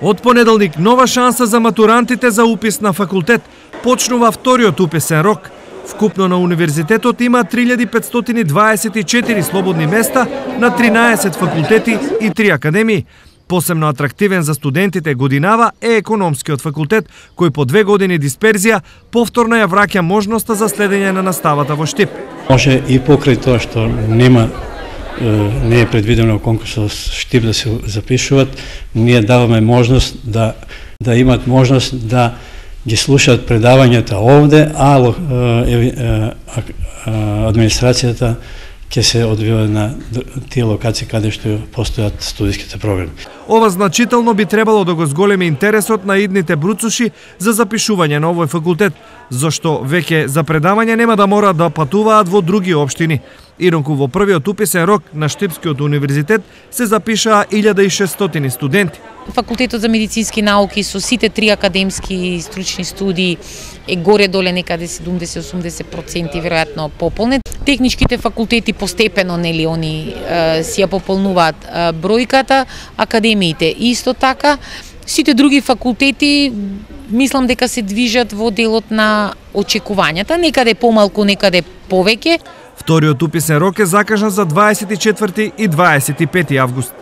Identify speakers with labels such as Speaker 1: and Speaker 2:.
Speaker 1: Од понеделник нова шанса за матурантите за упис на факултет. Почнува вториот уписен рок. Вкупно на универзитетот има 3524 слободни места на 13 факултети и 3 академии. Посебно атрактивен за студентите годинава е економскиот факултет, кој по 2 години дисперзија повторно ја враќа можноста за следење на наставата во Штип.
Speaker 2: Може и покрај тоа што не е предвидено конкурсот Штип да се запишуваат, ние даваме можност да имат можност да ги слушаат предавањата овде, а администрацијата ќе се одвива на тие локации каде што постојат студиските програми.
Speaker 1: Ова значително би требало да го зголеми интересот на идните бруцуши за запишување на овој факултет, зашто веќе за предавање нема да мора да патуваат во други општини. Инаку во првиот уписен рок на Штипскиот универзитет се запишаа 1600 студенти.
Speaker 3: Факултетот за медицински науки со сите 3 академски стручни студии е горе-доле некаде 70-80% веројатно пополнет. Техничките факултети постепено они си ја пополнуваат бројката, академиите исто така. Сите други факултети мислам дека се движат во делот на очекувањата, некаде помалку, некаде повеќе.
Speaker 1: Вториот уписен рок е закажан за 24 и 25 август.